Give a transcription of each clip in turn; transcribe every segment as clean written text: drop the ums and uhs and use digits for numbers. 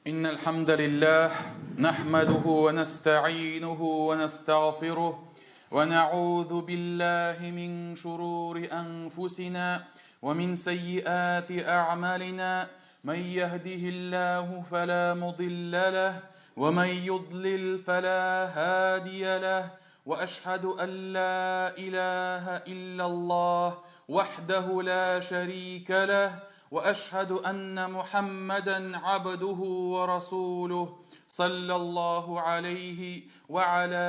إن الحمد لله نحمده ونستعينه ونستغفره ونعوذ بالله من شرور أنفسنا ومن سيئات أعمالنا من يهده الله فلا مضل له ومن يضلل فلا هادي له وأشهد أن لا إله إلا الله وحده لا شريك له وأشهد أن محمدا عبده ورسوله صلى الله عليه وعلى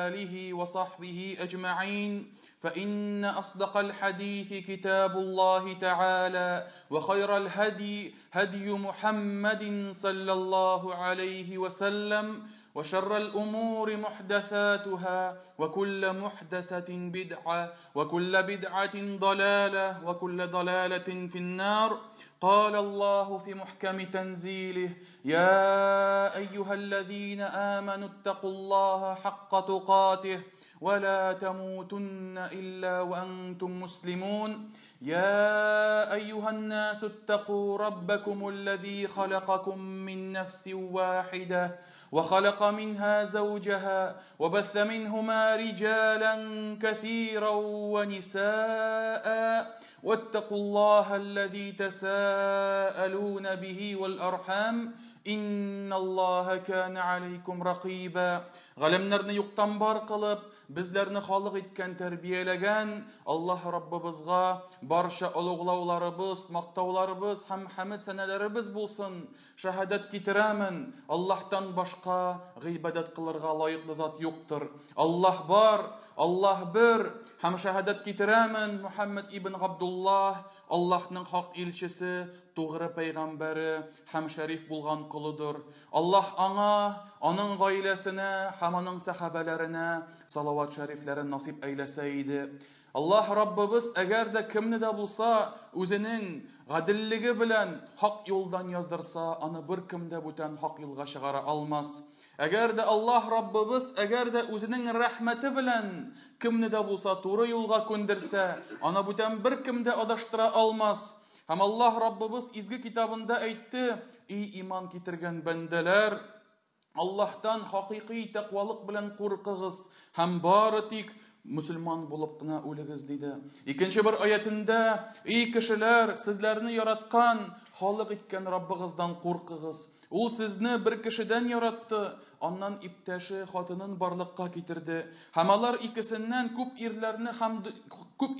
آله وصحبه أجمعين فإن أصدق الحديث كتاب الله تعالى وخير الهدي هدي محمد صلى الله عليه وسلم وشر الأمور محدثاتها وكل محدثة بدعة وكل بدعة ضلالة وكل ضلالة في النار. قال الله في محكم تنزيله: يا أيها الذين آمنوا اتقوا الله حق تقاته ولا تموتن إلا وأنتم مسلمون. يا أيها الناس اتقوا ربكم الذي خلقكم من نفس واحدة وخلق منها زوجها وبث منهما رجالا كثيرا ونساء واتقوا الله الذي تساءلون به والأرحام إن الله كان عليكم رقيبا. Ғаләмнәрне юктан бар кылып, безләрне халык иткән, тәрбияләгән Аллаһ Раббыбызга барча олуглауларыбыз, мактауларыбыз һәм хәмд сәнәләребез булсын. Шаһадәт китерәмен, Аллаһтан башка гыйбадәт кылырга лаеклы зат юктыр. Аллаһ бар, Аллаһ бер. Һәм шаһадәт китерәмен, Мухаммад ибн Габдуллаһ Аллаһның хак илчесе, тугры пәйгамбәре һәм шәриф булган колыдыр. Аллаһ аңа, аның гаиләсенә һәм аның сәхабәләренә салават шәрифләрен насип әйләсә иде. Аллаһ Раббыбыз әгәр дә кемне дә булса үзенең гаделлеге белән хак юлдан яздырса, аны бер кем дә бүтән хак юлга чыгара алмас. Әгәр дә Аллаһ Раббыбыз әгәр дә үзенең рәхмәте белән кемне дә булса туры юлга күндерсә, аны бүтән бер кем дә адаштыра алмас. Һәм Аллаһ Раббыбыз изге китабында әйтте: "Ий иман китергән бәндәләр, Аллаһтан хакыйкый тәкъвалык белән куркыгыз һәм бары тик мөселман булып кына үлегез", диде. Икенче бер аятында: "Ий кешеләр, сезләрне яраткан, халык иткән Раббыгыздан куркыгыз. Ул сезне бер кешедән яратты, аннан иптәше хатынын барлыкка китерде. Һәм алар икесеннән күп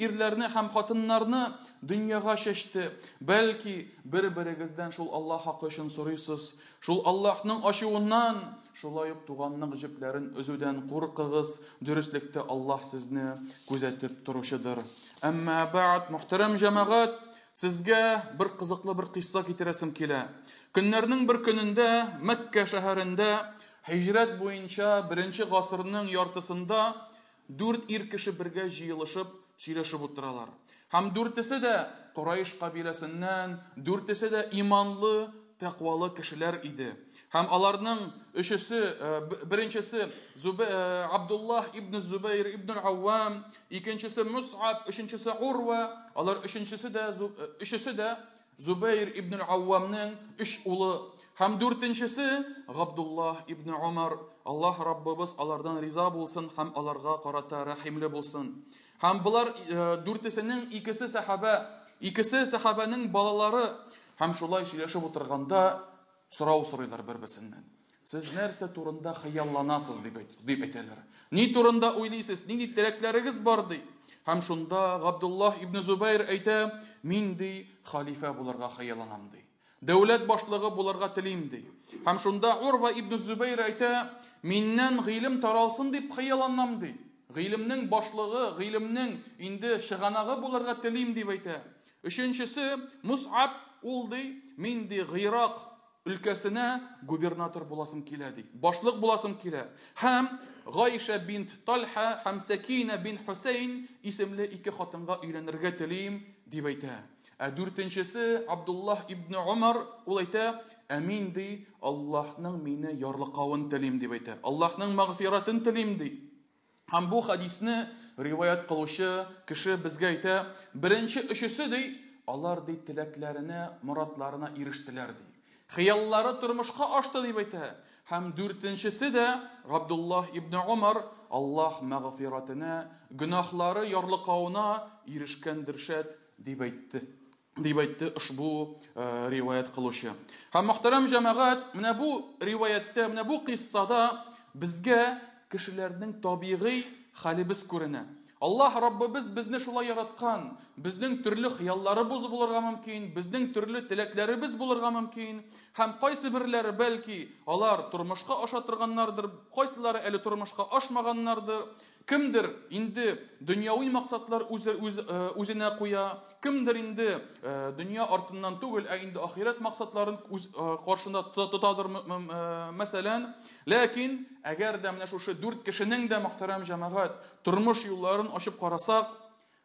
ирләрне һәм хатыннарны дөньяга чәчте. Бәлки бер-берегездән шул Аллаһ хакы өчен сорыйсыз. Шул Аллаһның ачуыннан, шулай ук туганның җепләрен өзүдән куркыгыз. Дөреслектә Аллаһ сезне күзәтеп торучыдыр". Әмма бәгъд, мөхтәрәм җәмәгать, сезгә бер кызыклы бер кыйсса китерәсем килә. Көннәрнең бер көнендә Мәккә шәһәрендә һиҗрәт буенча беренче гасырның яртысында дүрт ир кеше бергә җыелышып сөйләшеп утыралар. Һәм дүртесе дә Курайш кабиләсеннән, дүртесе дә иманлы, тәкъвалы кешеләр иде. Һәм аларның өчесе, беренчесе Абдуллаһ ибн Зубайр ибн Аввам, икенчесе Мус'аб, өченчесе Урва, алар өчесе дә Зубайр ибн Аввамның өч улы. Һәм дүртенчесе Габдуллаһ ибн Умар. Аллаһ Раббыбыз алардан риза булсын һәм аларга карата рәхимле булсын. Һәм булар дүртесенең икесе сәхабә, икесе сәхабәнең балалары. Һәм шулай сөйләшеп утырганда сорау сорыйлар бер-берсеннән. Сез нәрсә турында хыялланасыз, дип әйтәләр. Ни турында уйлыйсыз, нинди теләкләрегез бар, ди. Һәм шунда Габдуллаһ ибн Зубайр әйтә: "Мин, ди, халифә булырга хыялланам, ди. Дәүләт башлыгы булырга телим, ди". Һәм шунда Урва ибн Зубайр әйтә: "Миннән гыйлем таралсын дип хыялланам, ди. Гыйлемнең башлыгы, гыйлемнең инде чыганагы булырга телим", дип әйтә. Өченчесе Мус'аб, ул, ди, "Мин, ди, Гыйрак өлкәсенә губернатор буласым килә, ди. Башлык буласым килә". Һәм Гайша бинт Талха һәм Сәкинә бин Хусейн исемле ике хатынга өйләнергә телим, дип әйтә. Ә дүртенчесе Абдуллаһ ибн Умар, ул әйтә: "Ә мин, ди, Аллаһның мине ярлыкавын телим", дип әйтә. Аллаһның мәгъфиратын телим, ди. Һәм бу хадисне риваят кылучы кеше безгә әйтә: беренче өчесе, ди, алар, ди, теләкләренә, моратларына ирештеләр, ди. Хыяллары тормышка ашты дип әйтә. Һәм дүртенчесе дә Габдуллаһ ибн Умар Аллаһ мәгъфиратенә, гөнаһлары ярлыкавына ирешкәндер шәт дип әйтте. Дип әйтте ошбу риваять кылучы. Һәм мөхтәрәм җәмәгать, менә бу риваятьтә, менә бу кыйссада безгә кешеләрнең табигый хәлебез күренә. Аллаһ Раббыбыз безне шулай яраткан. Безнең төрле хыялларыбыз булырга мөмкин, безнең төрле теләкләребез булырга мөмкин. Һәм кайсы берләре бәлки алар тормышка аша торганнардыр, кайсылары әле тормышка ашмаганнардыр. Кемдер инде дөньяви максатлар үзенә куя, кемдер инде дөнья артыннан түгел, ә инде ахирәт максатларын үз каршында тотадыр, мәсәлән. Ләкин әгәр дә менә шушы дүрт кешенең дә, мөхтәрәм җәмәгать, тормыш юлларын ачып карасак,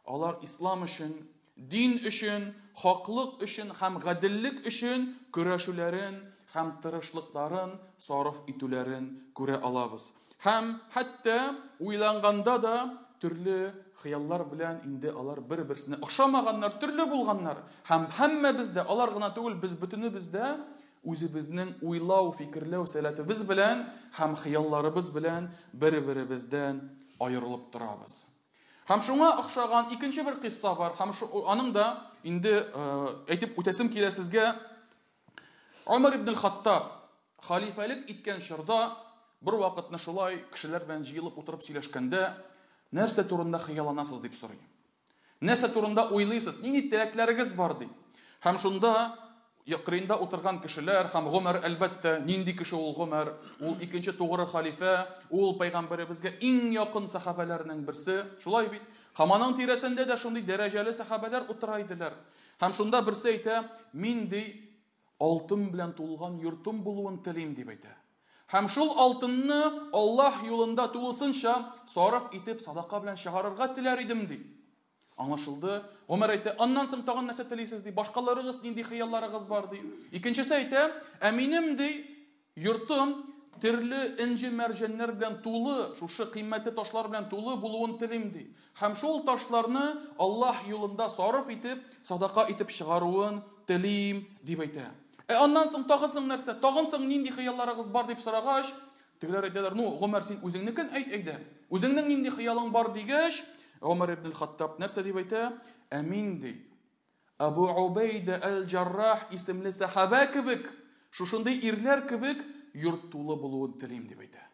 алар ислам өчен, дин өчен, хаклык өчен һәм гаделлек өчен көрәшүләрен һәм тырышлыкларын сарыф итүләрен күрә алабыз. Һәм хәтта уйланганда да төрле хыяллар белән инде алар бер-берсенә охшамаганнар, төрле булганнар. Һәм һәммәбез дә, алар гына түгел, без бөтенебез дә үзебезнең уйлау, фикерләү сәләтебез белән һәм хыялларыбыз белән бер-беребездән аерылып торабыз. Һәм шуңа охшаган икенче бер кыйсса бар, һәм аның да инде әйтеп үтәсем килә сезгә. Умар ибн ал-Хаттаб халифәлек иткән чорда бер вакытны шулай кешеләр белән җыелып утырып сөйләшкәндә, нәрсә турында хыялланасыз дип сорый. Нәрсә турында уйлыйсыз, нинди теләкләрегез бар ди. Һәм шунда кырыенда утырган кешеләр һәм Гомәр, әлбәттә, нинди кеше ул Гомәр? Ул икенче тугры халифә, ул пәйгамбәребезгә иң якын сахабәләрнең берсе, шулай бит? Һәм аның тирәсендә дә шундый дәрәҗәле сахабәләр утыра иделәр. Һәм шунда берсе әйтә, мин ди алтын белән тулган йортым булуын телим дип әйтә. Һәм шул алтынны Аллаһ юлында тулысынча сарыф итеп садака белән чыгарырга теләр идем ди. Аңлашылды. Гомәр әйтә, аннан соң тагын нәрсә телисез ди, башкаларыгыз нинди хыялларыгыз бар ди. Икенчесе әйтә, ә минем ди йортым төрле энҗе мәрҗәннәр белән тулы, шушы кыйммәтле ташлар белән тулы булуын телим ди. Һәм шул ташларны Аллаһ юлында сарыф итеп, садака итеп чыгаруын телим дип әйтә. Ә аннан соң тагын соң нәрсә? Тагын соң нинди хыялларыгыз бар дип сорагач, тегеләр әйтәләр, ну, Гомәр, син үзеңнекен әйт әйдә. Үзеңнең нинди хыялың бар дигәч, Гомәр ибн ал-Хаттаб нәрсә дип әйтә? Ә мин ди, Абу Убайда әл-Джаррах исемле сахаба кебек, шушындый ирләр кебек йорт тулы булуын телим дип әйтә.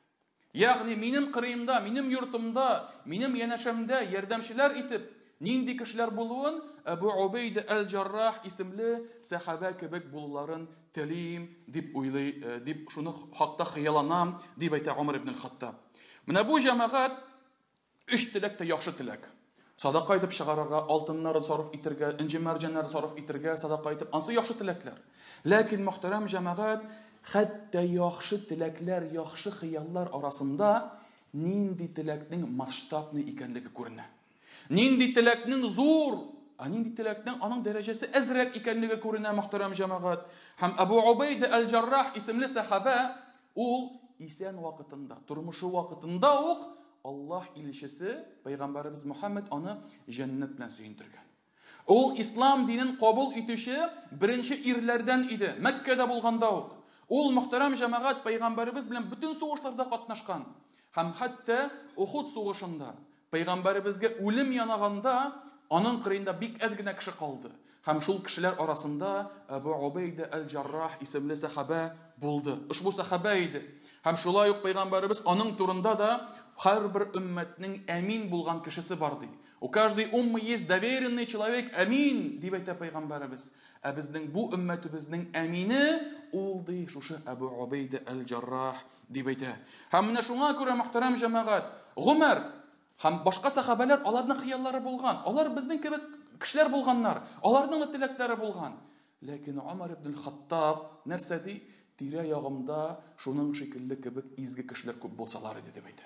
Ягъни минем кырыемда, минем йортымда, минем янәшәмдә ярдәмчеләр итеп нинди кешеләр булуын Абу Убайда әл-Джаррах исемле сахаба кебек булуларын телим дип уйлый, дип шуны хакта хыялланам дип әйтә Умар ибн ал-Хаттаб. Менә бу җәмәгать өч теләк тә яхшы теләк. Садака итеп чыгарырга, алтыннарын сарыф итергә, энҗе мәрҗәннәрен сарыф итергә, садака итеп, ансы яхшы теләкләр. Ләкин мөхтәрәм җәмәгать, хәтта яхшы теләкләр, яхшы хыяллар арасында нинди теләкнең масштабный икәнлеге күренә. Нинди теләкнең зур, ә нинди теләкнең аның дәрәҗәсе әзрәк икәнлеге күренә мөхтәрәм җәмәгать. Һәм Абу Убайда әл-Джаррах исемле сахаба ул исән вакытында, тормышы вакытында ук Аллаһ илчесе Пәйгамбәребез Мухаммед аны җәннәт белән сөендергән. Ул ислам динен кабул итүче беренче ирләрдән иде, Мәккәдә булганда ук. Ул мөхтәрәм җәмәгать Пәйгамбәребез белән бөтен сугышларда катнашкан. Һәм хәтта Ухуд сугышында Пәйгамбәребезгә үлем янаганда аның кырыенда бик әз генә кеше калды. Һәм шул кешеләр арасында Абу Убайда әл-Джаррах исемле сахаба булды. Ошбу сахаба иде. Һәм шулай ук Пәйгамбәребез аның турында да һәрбер өммәтнең әмин булган кешесе бар ди. У каждой уммы есть доверенный человек, әмин, дип әйтә Пәйгамбәребез. Ә безнең бу өммәтебезнең әмине ул ди шушы Абу Убайда әл-Джаррах дип әйтә. Һәм менә шуңа күрә мөхтәрәм җәмәгать, Гомәр һәм башка сахабәләр аларның хыяллары булган. Алар безнең кебек кешеләр булганнар. Аларның да теләкләре булган. Ләкин Умар ибн ал-Хаттаб нәрсә ди? Тирә-ягымда шуның шикелле кебек изге кешеләр күп булсалар иде дип әйтә.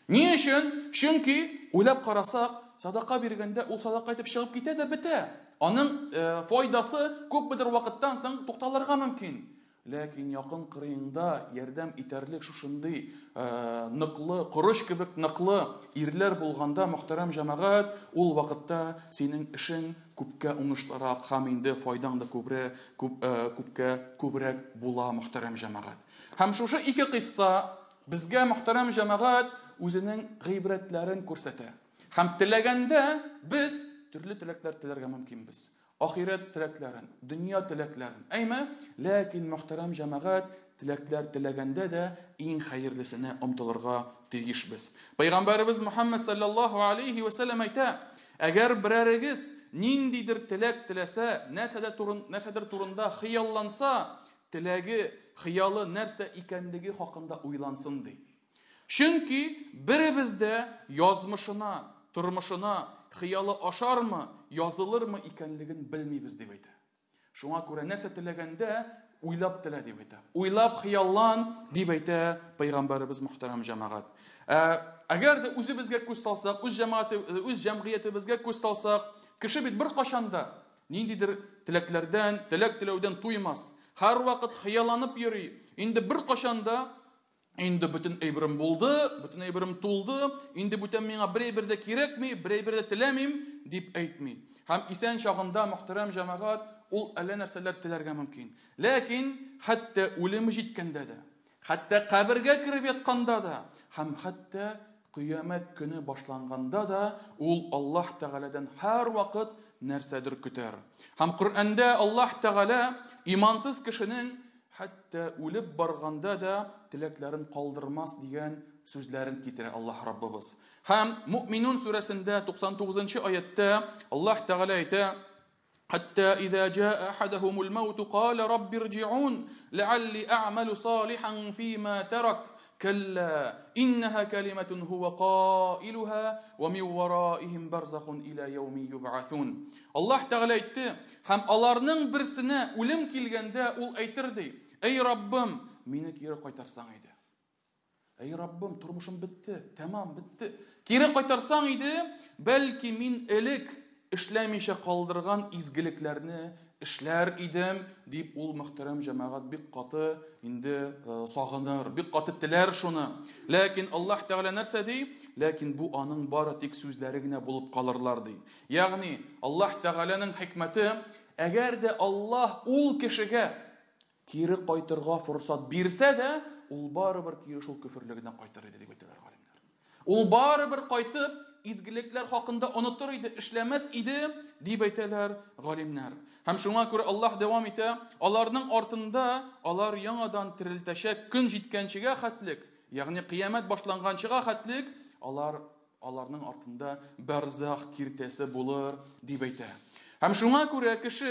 Ни өчен? Чөнки уйлап карасак, садака биргәндә ул садака итеп чыгып китә дә бетә. Аның файдасы күпмедер вакыттан соң тукталырга мөмкин. Ләкин якын кырыеңда ярдәм итәрлек шушындый ныклы, корыч кебек ныклы ирләр булганда, мөхтәрәм җәмәгать, ул вакытта синең эшең күпкә уңышлырак һәм инде файдаң да күбрәк, күп, күпкә күбрәк була, мөхтәрәм җәмәгать. Һәм шушы ике кыйсса безгә, мөхтәрәм җәмәгать, үзенең гыйбрәтләрен күрсәтә. Һәм теләгәндә без төрле теләкләр теләргә мөмкинбез. Ахирәт теләкләрен, дөнья теләкләрен. Әйме? Ләкин, мөхтәрәм җәмәгать, теләкләр теләгәндә дә иң хәерлесенә омтылырга тиешбез. Пәйгамбәребез Мухаммад саллаллаһу алейхи ва сәлләм әйтә, әгәр берәрегез ниндидер теләк теләсә, нәрсәдә турын, нәрсәдер турында хыялланса, теләге, хыялы нәрсә икәнлеге хакында уйлансын ди. Чөнки беребез дә язмышына, тормышына хыялы ашармы, язылырмы икәнлеген белмибез, дип әйтә. Шуңа күрә нәрсә теләгәндә уйлап телә, дип әйтә. Уйлап хыяллан, дип әйтә пәйгамбәребез мөхтәрәм җәмәгать. Әгәр дә үзебезгә күз салсак, үз җәмәгате, үз җәмгыятебезгә күз салсак, кеше бит беркайчан да ниндидер теләкләрдән, теләк теләүдән туймас. Һәрвакыт хыялланып йөри. Инде беркайчан да инде бөтен әйберем булды, бөтен әйберем тулды, инде бүтән миңа бер әйбер дә кирәкми, бер әйбер дә теләмим, дип әйтми. Һәм исән чагында, мөхтәрәм җәмәгать, ул әллә нәрсәләр теләргә мөмкин. Ләкин хәтта үлеме җиткәндә дә, хәтта кабергә кереп ятканда да, һәм хәтта кыямәт көне башланганда да ул Аллаһ Тәгаләдән һәрвакыт нәрсәдер көтәр. Һәм Коръәндә Аллаһ Тәгалә имансыз кешенең хәтта үлеп барганда да теләкләрен калдырмас дигән сүзләрен китерә Аллаһ Раббыбыз. Һәм Муъминун сүрәсендә 99 аяттә Аллаһ Тәгалә әйтә: Хәтта иза җаа ахадахумул маут кала рабби ирҗиун ләалли а'малу салихан фима таракт калла иннаха калиматун хува каилуха ва мин вараихим барзахун ила яуми юбгасун. Аллаһ Тәгалә әйтте, һәм аларның берсенә үлем килгәндә ул әйтер ди: Эй Раббым, мине кире кайтарсаң иде. Эй Раббым, тормышым бетте, тәмам бетте. Кире кайтарсаң иде, бәлки мин элек эшләмичә калдырган изгелекләрне эшләр идем, дип ул мөхтәрәм җәмәгать бик каты инде сагыныр, бик каты теләр шуны. Ләкин Аллаһ Тәгалә нәрсә ди? Ләкин бу аның бары тик сүзләре генә булып калырлар ди. Ягъни Аллаһ Тәгаләнең хикмәте, әгәр дә Аллаһ ул кешегә кире кайтырга форсат бирсә дә, ул барыбер кире шул көферлегенә кайтыр иде, дип әйтәләр галимнәр. Ул барыбер кайтып, изгелекләр хакында онытыр иде, эшләмәс иде, дип әйтәләр галимнәр. Һәм шуңа күрә Аллаһ дәвам итә, аларның артында алар яңадан терелтәчәк көн җиткәнчегә хәтлек, ягъни кыямәт башланганчыга хәтлек, алар аларның артында барзах киртәсе булыр, дип әйтә. Һәм шуңа күрә кеше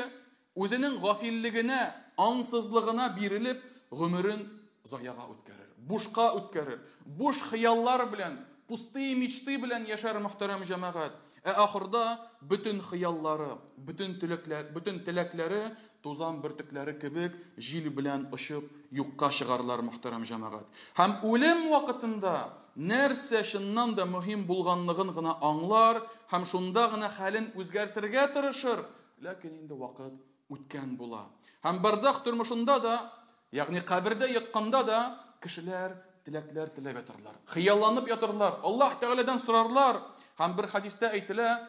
үзенең гафиллегенә, аңсызлыгына бирелеп, гомерен заяга үткәрер, бушка үткәрер, буш хыяллар белән, пустые мечты белән яшәр мөхтәрәм җәмәгать. Ә ахырда бөтен хыяллары, бөтен теләкләр, бөтен теләкләре тузан бөртекләре кебек җил белән очып юкка чыгарлар мөхтәрәм җәмәгать. Һәм үлем вакытында нәрсә чыннан да мөһим булганлыгын гына аңлар һәм шунда гына хәлен үзгәртергә тырышыр, ләкин инде вакыт үткән була. Һәм барзах тормышында да, ягъни кабердә ятканда да кешеләр теләкләр теләп ятырлар, хыялланып ятырлар, Аллаһ Тәгаләдән сорарлар. Һәм бер хадистә әйтелә,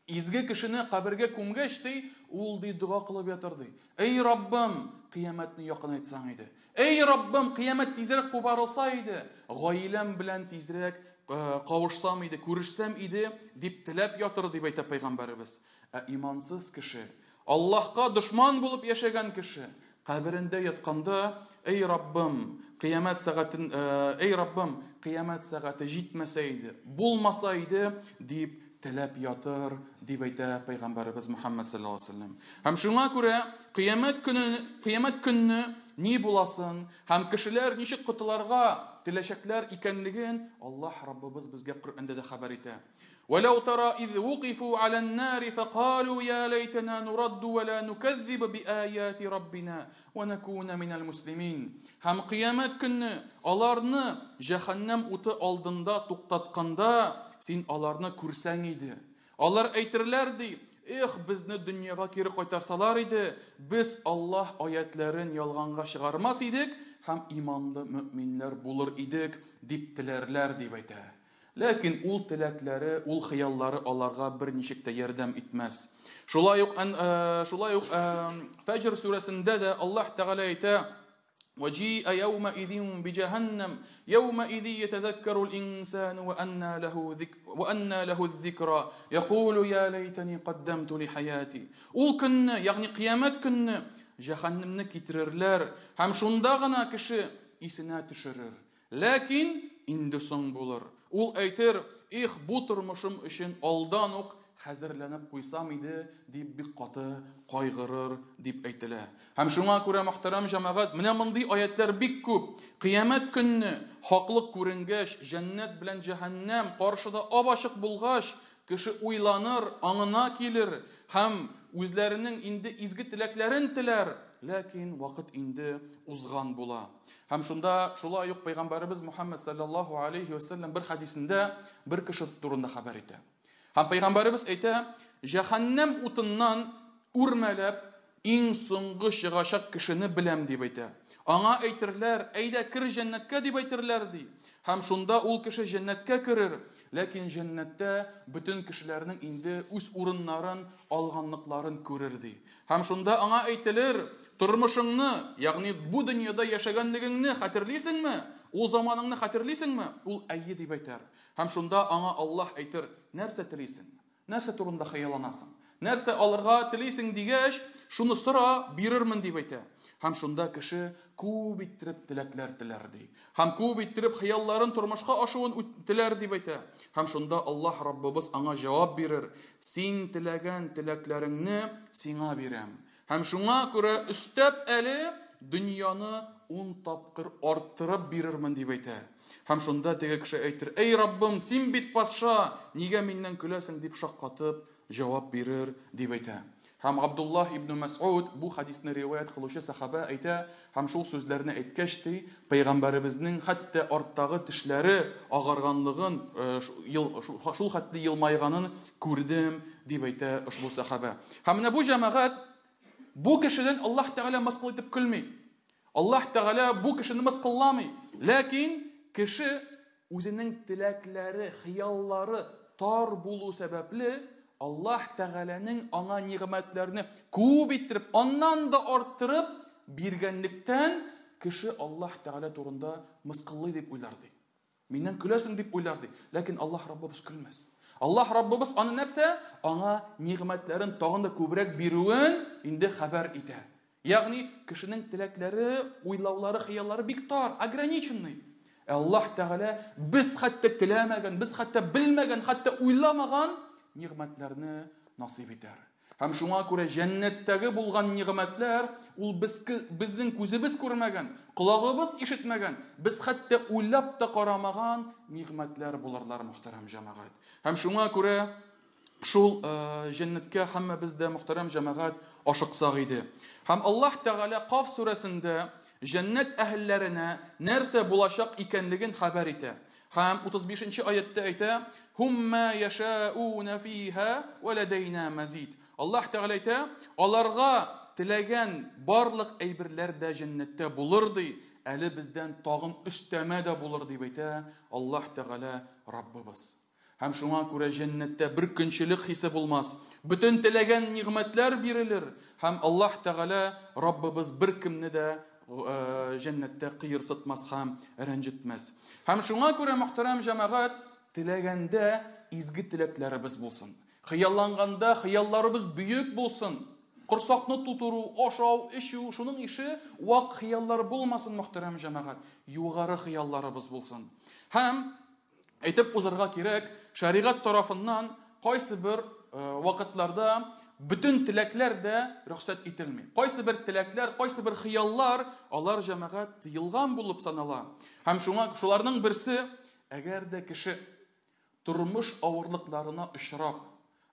изге кешене кабергә күмгәч ди, ул ди дога кылып ятыр ди. Эй Раббым, кыямәтне якынайтсаң иде. Эй Раббым, кыямәт тизрәк кубарылса иде, гаиләм белән тизрәк кавышсам иде, күрешсәм иде, дип теләп ятыр, дип әйтә пәйгамбәребез. Ә имансыз кеше, Аллаһка дошман булып яшәгән кеше, каберендә ятканда, эй Раббым, кыямәт сәгатен, эй Раббым, кыямәт сәгате җитмәсә иде, булмаса иде, дип теләп ятыр, дип әйтә пәйгамбәребез Мухаммад саллаллаһу алейһи ва сәлләм. Һәм шуңа күрә кыямәт көне, кыямәт көнне ни буласын һәм кешеләр ничек котыларга теләчәкләр икәнлеген Аллаһ Раббыбыз безгә Коръәндә дә хәбәр итә. ولو ترى إذ وقفوا على النار فقالوا يا ليتنا نرد ولا نكذب بآيات ربنا ونكون من المسلمين. Һәм кыямәт көнне аларны җәһәннәм уты алдында туктатканда син аларны күрсәң иде. Алар әйтерләр ди, эх, безне дөньяга кире кайтарсалар иде, без Аллаһ аятларын ялганга чыгармас идек һәм иманлы мөминнәр булыр идек, дип теләрләр, дип әйтә. Ләкин ул теләкләре, ул хыяллары аларга берничек тә ярдәм итмәс. Шулай ук Фәҗр сүрәсендә дә Аллаһ Тәгалә әйтә: وجيء يومئذ بجهنم يومئذ يتذكر الإنسان وأنى له الذكرى يقول يا ليتني قدمت لحياتي. Ул көнне, ягъни кыямәт көнне җәһәннемне китерерләр һәм шунда гына кеше исенә төшерер. Ләкин инде соң булыр. Ул әйтер: "Их, бу тормышым өчен алдан ук хәзерләнеп куйсам иде", дип бик каты кайгырыр дип әйтелә. Һәм шуңа күрә, мөхтәрәм җәмәгать, менә мондый аятлар бик күп. Кыямәт көнне хаклык күренгәч, җәннәт белән җәһәннәм каршыда ап-ачык булгач, кеше уйланыр, аңына килер һәм үзләренең инде изге теләкләрен теләр, ләкин вакыт инде узган була. Һәм шунда шулай ук пәйгамбәребез Мухаммад саллаллаһу алейхи ва саллям бер хадисендә бер кеше турында хәбәр итә. Һәм пәйгамбәребез әйтә: "Җәһәннәм утыннан үрмәләп иң соңгы чыгачак кешене беләм", дип әйтә. Аңа әйтерләр: "Әйдә, кер җәннәткә", дип әйтерләр ди. Һәм шунда ул кеше җәннәткә керер, ләкин җәннәттә бөтен кешеләрнең инде үз урыннарын алганлыкларын күрер ди. Һәм шунда аңа әйтелер: "Тормышыңны, ягъни бу дөньяда яшәгәнлегеңне хәтерлисеңме? Ул заманыңны хәтерлисеңме?" Ул әйе дип әйтер. Һәм шунда аңа Аллаһ әйтер: "Нәрсә телисең? Нәрсә турында хыялланасың? Нәрсә алырга телисең?" дигәч, "Шуны сора, бирермен", дип әйтә. Һәм шунда кеше күп иттереп теләкләр теләр ди. Һәм күп иттереп хыялларын тормышка ашуын теләр дип әйтә. Һәм шунда Аллаһ Раббыбыз аңа җавап бирер: "Син теләгән теләкләреңне сиңа бирәм. Һәм шуңа күрә өстәп әле дөньяны 10 тапкыр арттырып бирермен", дип әйтә. Һәм шунда теге кеше әйтер: "Эй Раббым, син бит патша, нигә миннән көләсең?" дип шаккатып җавап бирер дип әйтә. Һәм Абдуллаһ ибн Мәс'уд, бу хадисне риваять кылучы сахаба әйтә, һәм шул сүзләрне әйткәч ди, пәйгамбәребезнең хәтта арттагы тешләре агарганлыгын, шул хәтле елмайганын күрдем дип әйтә ошбу сахаба. Һәм менә бу җәмәгать, бу кешедән Аллаһ Тәгалә мыскыл итеп көлми. Аллаһ Тәгалә бу кешене мыскылламый. Ләкин кеше үзенең теләкләре, хыяллары тар булу сәбәпле Аллаһ Тәгаләнең аңа нигъмәтләрне күп иттереп, аннан да арттырып биргәнлектән кеше Аллаһ Тәгалә турында мыскыллый дип уйлар ди. Миннән көләсең дип уйлар ди. Ләкин Аллаһ Раббыбыз көлмәс. Аллаһ Раббыбыз аны нәрсә? Аңа нигъмәтләрен тагын да күбрәк бирүен инде хәбәр итә. Ягъни кешенең теләкләре, уйлаулары, хыяллары бик тар, ограниченный. Аллаһ Тәгалә без хәтта теләмәгән, без хәтта белмәгән, хәтта уйламаган нигъмәтләрне насыйп итәр. Һәм шуңа күрә җәннәттәге булган нигъмәтләр ул безнең күзебез күрмәгән, колагыбыз ишетмәгән, без хәтта уйлап та карамаган нигъмәтләр булырлар, мөхтәрәм җәмәгать. Һәм шуңа күрә шул җәннәткә һәммәбез дә, мөхтәрәм җәмәгать, ашыксак иде. Һәм Аллаһ Тәгалә Каф сүрәсендә җәннәт әһелләренә нәрсә булачак икәнлеген хәбәр итә. Һәм 35-нче аятта әйтә: "Һумма яшауна фиха ва ладайна мазид". Аллаһ Тәгалә әйтә, аларга теләгән барлык әйберләр дә җәннәттә булыр ди, әле бездән тагын өстәмә дә булыр дип әйтә Аллаһ Тәгалә Раббыбыз. Һәм шуңа күрә җәннәттә бер көнчелек хисе булмас. Бөтен теләгән нигъмәтләр бирелер. Һәм Аллаһ Тәгалә Раббыбыз бер кемне дә җәннәттә кыерсытмас һәм рәнҗетмәс. Һәм шуңа күрә, мөхтәрәм җәмәгать, теләгәндә изге теләкләребез булсын. Хыялланганда хыялларыбыз бөек булсын. Корсакны тутыру, ашау, эчү, шуның ише вак хыяллар булмасын, мөхтәрәм җәмәгать. Югары хыялларыбыз булсын. Һәм әйтеп узарга кирәк, шәригать тарафыннан кайсы бер вакытларда бөтен теләкләр дә рөхсәт ителми. Кайсы бер теләкләр, кайсы бер хыяллар, алар җәмәгать тыелган булып санала. Һәм шуларның берсе, әгәр дә кеше тормыш авырлыкларына очрап,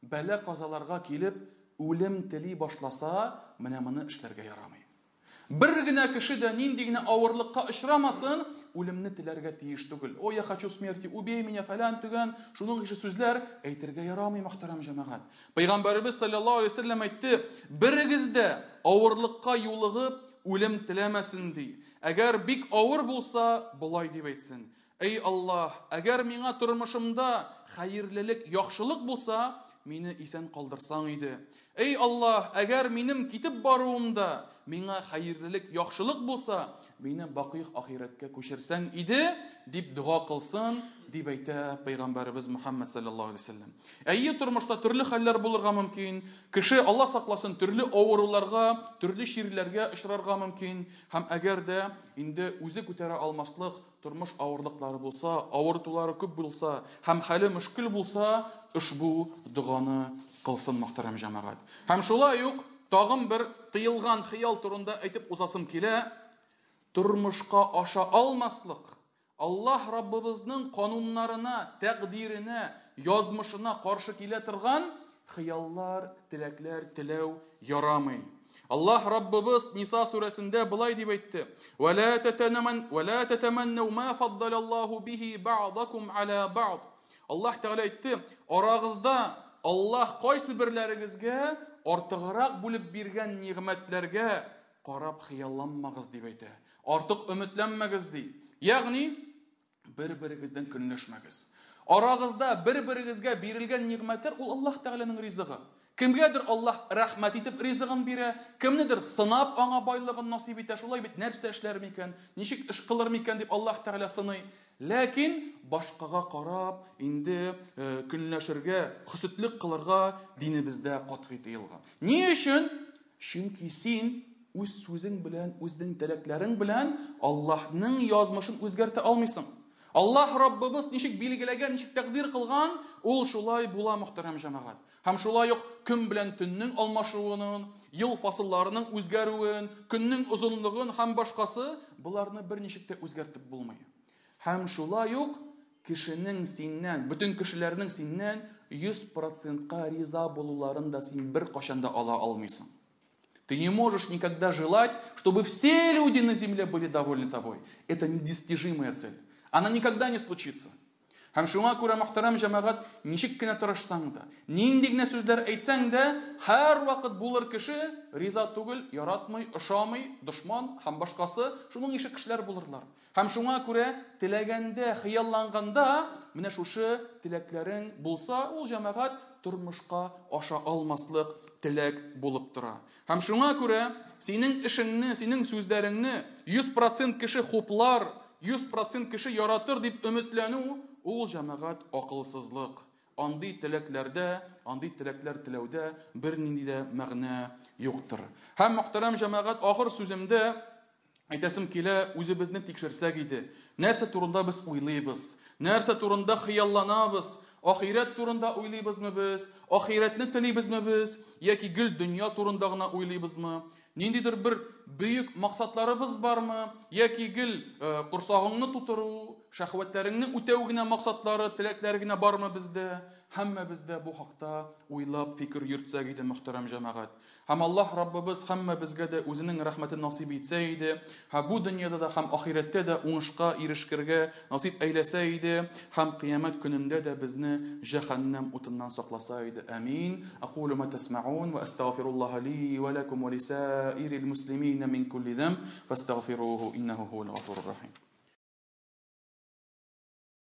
бәла-казаларга килеп, үлем тели башласа, менә моны эшләргә ярамый. Бер генә кеше дә нинди генә авырлыкка очрамасын, үлемне теләргә тиеш түгел. О, я хочу смерти, убей меня, фәлән төгән, шуның ише сүзләр әйтергә ярамый, мөхтәрәм җәмәгать. Пәйгамбәребез саллаллаһу алейһи ва сәлләм әйтте, берегез дә авырлыкка юлыгып үлем теләмәсен ди. Әгәр бик авыр булса, болай дип әйтсен: Эй Аллаһ, әгәр миңа тормышымда хәерлелек, яхшылык булса, мине исән калдырсаң иде. Эй Аллаһ, әгәр минем китеп баруымда миңа хәерлелек, яхшылык булса, мине бакый ахирәткә күчерсәң иде, дип дога кылсын, дип әйтә пәйгамбәребез Мухаммад саллаллаһу алейһи вәсәлләм. Әйе, тормышта төрле хәлләр булырга мөмкин. Кеше, Алла сакласын, төрле авыруларга, төрле чирләргә очрарга мөмкин. Һәм әгәр дә инде үзе күтәрә алмаслык тормыш авырлыклары булса, авыртулары күп булса һәм хәле мөшкел булса, ошбу доганы кылсын, мөхтәрәм җәмәгать. Һәм шулай ук тагын бер тыелган хыял турында әйтеп узасым килә. Тормышка аша алмаслык, Аллаһ Раббыбызның кануннарына, тәкъдиренә, язмышына каршы килә торган хыяллар, теләкләр теләү ярамый. Аллаһ Раббыбыз Ниса сүрәсендә болай дип әйтте: "Ва ла татанаман ва ла татаманну ма фаддалаллаһу бихи бa'дакум аля бa'д". Аллаһ Тәгалә әйтте: "Арагызда Аллаһ кайсы берләрегезгә артыграк бүлеп биргән нигъмәтләргә карап хыялланмагыз", дип әйтә. Артык өметләнмәгез ди. Ягъни бер-берегездән көнләшмәгез. Арагызда бер-берегезгә бирелгән нигъмәтләр ул Аллаһ Тәгаләнең ризыгы. Кемгәдер Аллаһ рәхмәт итеп ризыгын бирә, кемнедер сынап аңа байлыгын насыйп итә. Шулай бит, нәрсә эшләр микән, ничек эш кылыр микән дип Аллаһ Тәгалә сыный. Ләкин башкага карап инде көнләшергә, хөсетлек кылырга динебездә катгый тыелган. Ни өчен? Чөнки син үз сүзең белән, үзенең теләкләрең белән Аллаһның язмышын үзгәртә алмыйсың. Аллаһ Раббыбыз ничек билгеләгән, ничек тәкъдир кылган, ул шулай була, мөхтәрәм җәмәгать. Һәм шулай ук көн белән төннең алмашуын, ел фасылларының үзгәрүен, көннең озынлыгын һәм башкасы, боларны берничек тә үзгәртеп булмый. Һәм шулай ук кешенең синнән, бөтен кешеләрнең синнән 100%-ка риза булуларын да син беркайчан да ала алмыйсың. Ты не можешь никогда желать, чтобы все люди на земле были довольны тобой. Это недостижимая цель. Она никогда не случится. Һәм шуңа күрә, мөхтәрәм җәмәгать, ничек кенә тырышсаң да, нинди генә сүзләр әйтсәң дә, һәрвакыт булыр кеше риза түгел, яратмый, ошамый, дошман һәм башкасы, шуның ише кешеләр булырлар. Һәм шуңа күрә теләгәндә, хыялланганда, менә шушы теләкләрең булса, ул җәмәгать тормышка аша алмаслык теләк булып тора. Һәм шуңа күрә синең эшеңне, синең сүзләреңне 100% кеше хуплар, 100% кеше яратыр дип өметләнү, ул җәмәгать акылсызлык. Андый теләкләрдә, андый теләкләр теләүдә бернинди дә мәгънә юктыр. Һәм мөхтәрәм җәмәгать, ахыр сүземдә әйтәсем килә, үзебезне тикшерсәк иде. Нәрсә турында без уйлыйбыз? Нәрсә турында хыялланабыз? Ахирәт турында уйлыйбызмы без? Ахирәтне телибезме без? Яки гел дөнья турында гына уйлыйбызмы? Ниндидер бер бөек максатларыбыз бармы? Яки гел корсагыңны тутыру, шәһвәтләреңне үтәү генә максатлары, теләкләре генә бармы бездә? Һәммәбез дә бу хакта уйлап фикер йөртсәк иде, мөхтәрәм җәмәгать. Һәм Аллаһ Раббыбыз һәммәбезгә дә үзенең рәхмәтен насыйп итсә иде, һәм бу дөньяда да, һәм ахирәттә дә уңышка ирешкергә насыйп әйләсә иде, һәм кыямәт көнендә дә безне җәһәннәм утыннан сакласа иде. Амин. Акулу ма тасмаун ва астагфируллаһа ли ва лакум ва лисаирил муслимина мин кулли замб фастагфируһу иннаху хуал гафурur рахим.